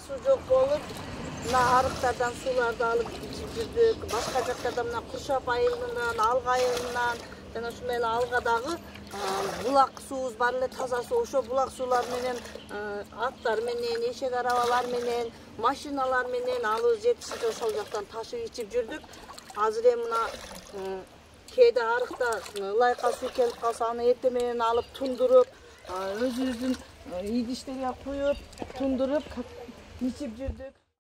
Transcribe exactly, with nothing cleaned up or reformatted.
суу жок болуп, мына арыктардан сууларды алып ичип жүрдүк. Башка жактарда мына Куршап айылынан, Алга айылынан жана ушундай эле Алгадагы булак суубуз бар эле, таза суу. Ошо булак суулар менен аттар менен, эшек арабалар менен, машиналар менен алыбыз жетишинче ошол жактан ташып ичип жүрдүк. Азыр эми мына кээде арыкта ылайка суу келип калса, аны эртең менен алып тундуруп, өзүбүздүн идиштерге куюп, тундуруп ичип жүрдүк.